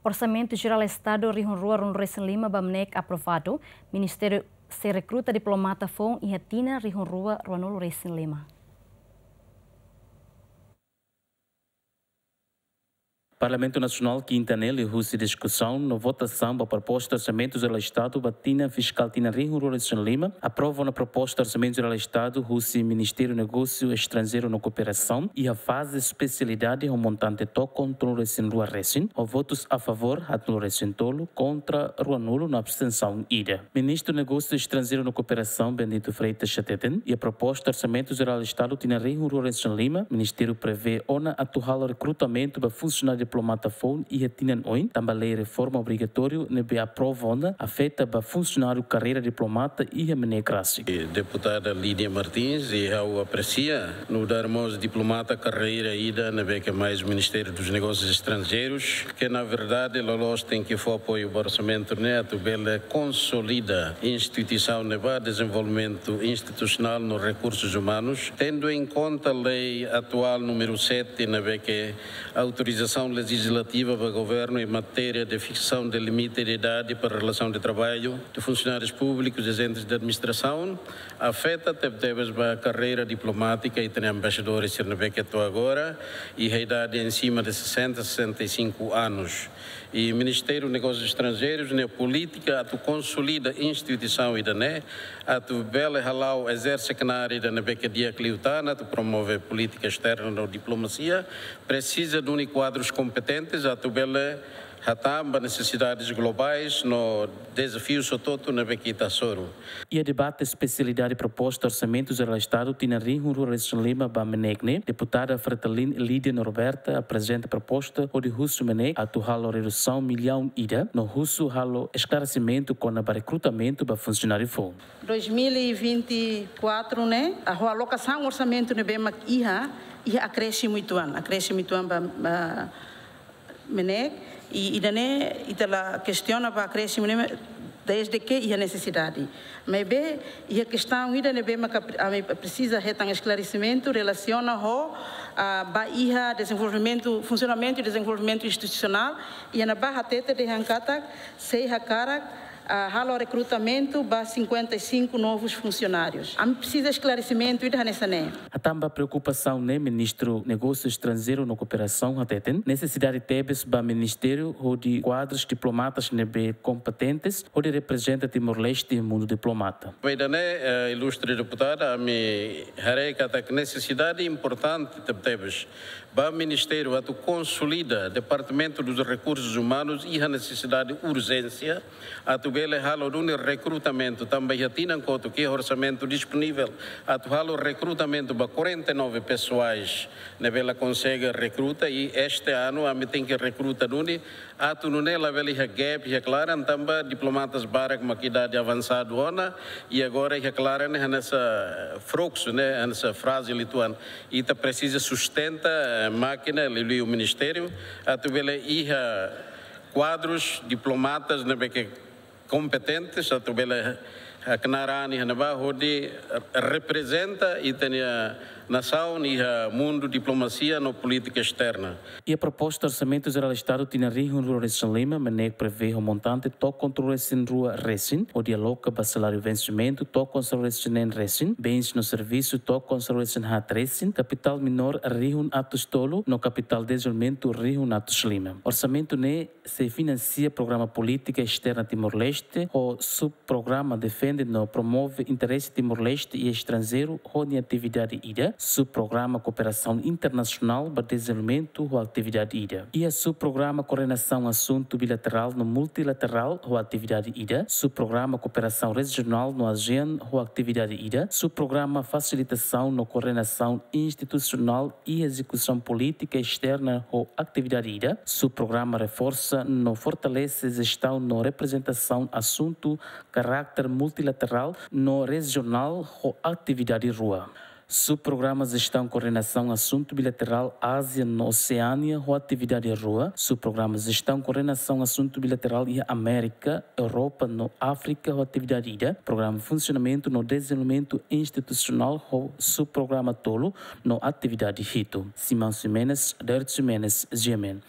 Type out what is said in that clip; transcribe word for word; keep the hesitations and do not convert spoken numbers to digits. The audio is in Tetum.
Orsamentu Jerál Estadu rihun rua ruanulu-resin-lima ba MNEK aprovadu, Ministériu sei rekruta diplomata foun iha tinan rihun rua ruanulu-resin-lima. Parlamentu Nasionál kinta ne'e liuhusi diskusaun no votasaun ba proposta Orsamentu Jerál Estadu ba tinan fiskál tinan rihun rua ruanulu-resin-lima, aprova ona proposta Orsamentu Jerál Estadu husi Ministériu Negósiu Estranjeiru no Kooperasaun iha faze espesialidade ho montante tokon tolunulu-resin-rua resin, ho votus a favór haatnulu-resin-tolu, kontra ruanulu no abstensaun ida. Ministru Negósiu Estranjeiru no Kooperasaun Bendito Freitas hateten, iha proposta Orsamentu Jerál Estadu tinan rihun rua ruanulu-resin-lima, Ministériu prevee ona atu halo rekrutamentu ba funsionáriu diplomata foun iha tinan oin, tanba lei reforma obrigatóriu ne'ebé aprova ona afeta ba funsionáriu karreira diplomata iha MNEK rasik. Deputada Lídia Martins, i ha'u apresia nu'udar mós diplomata karreira ida ne'ebé ke mai Ministériu dos Negósius Estranjeirus, ke na verdade loloos tenke fó apoiu ba orsamentu ne'e atu bele konsolida instituisaun ne'ebá, dezenvolvimentu institusionál no rekursus umanus, tendu en konta lei atuál númeru sete ne'ebé ke autorizasaun lejizlativa ba governu em matéria de fixação de limite de idade para relação de trabalho de funcionários públicos e agentes de administração, afeta tebetebes ba karreira diplomátika, ita-nia embaixadores sira ne'ebé ke to'o agora iha idade acima de sessenta, sessenta e cinco anos. I Ministériu Negósius Estranjeirus nia polítika atu konsolida instituisaun ida-ne'e, atu bele hala'o ezerse knaar ida ne'ebé ke di'ak liután, atu promove polítika esterna no diplomasia, presiza duni kuadrus kompetentes atu bele hatán ba nesesidades globais no dezafius hotu-hotu ne'ebé ke ita hasoru. Iha debate espesialidade proposta Orsamentu Jerál Estadu tinan rihun rua ruanulu-resin-lima ba MNEK ne'e, Deputada Fretilin Lídia Norberta aprezenta proposta hodi husu MNEK atu halo redusaun millaun ida no husu halo esklaresimentu kona-ba rekrutamentu ba funsionáriu foun. Dois mil e vinte e quatro ne'e, ho alokasaun orsamentu ne'ebé mak iha, iha akrésimu uitoan, akrésimu uitoan ba, ba MNEK, i ida-ne'e ita la kestiona ba akrésimu ne'e desde ke iha nesesidade. Maibé iha kestaun ida ne'ebé maka pre-, ami presiza hetan esklaresimentu relasiona ho, ah, ba iha dezenvolvimentu, funsionamentu i dezenvolvimentu institusionál, iha ne'ebá hatete dehan katak sei hakarak, ah, halo rekrutamentu ba cinquenta e cinco novos funcionários. Ami presiza esklaresimentu ida hanesan ne'e. Hatán ba preokupasaun ne'e, Ministru Negósiu Estranjeiru no Kooperasaun hateten, nesesidade tebes ba ministériu hodi kuadrus diplomatas ne'ebé kompetentes hodi reprezenta Timor-Leste iha mundu diplomata. Ba ida-ne'e, eh, ilustre deputada, ami haree katak nesesidade importante tebetebes ba ministériu atu konsolida Departamentu dos Rekursus Umanus iha nesesidade urjénsia atu bele halo duni rekrutamentu, tanba iha tinan kotuk iha orsamentu disponivel atu halo rekrutamentu ba quarenta e nove pesoais ne'ebé la konsege rekruta, i este anu ami tenke rekruta duni atu nune'e labele iha gap iha klaran, tanba diplomatas barak mak idade avansadu ona, i agora iha klaran ne'e hanesan frouxu, ne'e hanesan frájil uitoan. Ita presiza sustenta, eh, mákina liuliu ministériu atu bele iha kuadrus diplomatas ne'ebé ke kompetentes atu bele, eh, knaar an iha ne'ebá hodi reprezenta ita-nia nasaun iha mundu diplomasia no polítika esterna. Iha proposta Orsamentu Jerál Estadu tinan rihun rua ruanulu-resin-lima, MNEK prevee ho montante tokon tolunulu-resin-rua resin hodi aloka ba saláriu vensimentu tokon sanulu-resin-neen resin, bens no servisu tokon sanulu-resin-haat resin, kapitál minór rihun atus tolu no kapitál dezenvolvimentu rihun atus lima. Orsamentu ne'e sei finansia programa polítika esterna Timor-Leste ho subprograma defende no promove interese Timor-Leste iha estranjeiru ho nia atividade ida, subprograma kooperasaun internasionál ba dezenvolvimentu ho atividade ida. Iha subprograma koordenasaun asuntu bilaterál no multilaterál ho atividade ida, subprograma kooperasaun rejionál no ASEAN ho atividade ida, subprograma fasilitasaun no koordenasaun institusionál i ezekusaun polítika esterna ho atividade ida, subprograma reforsa no fortalese jestaun no reprezentasaun asuntu karakter multilaterál no rejionál ho atividade rua. Subprograma jestaun koordenasaun asuntu bilaterál Ázia no Oseánia ho atividade rua, subprograma jestaun koordenasaun asuntu bilaterál iha Amérika, Europa no Áfrika ho atividade ida, programa funsionamentu no dezenvolvimentu institusionál ho subprograma tolu no atividade hitu. Simão Ximenes, Dert Ximenes, G M N.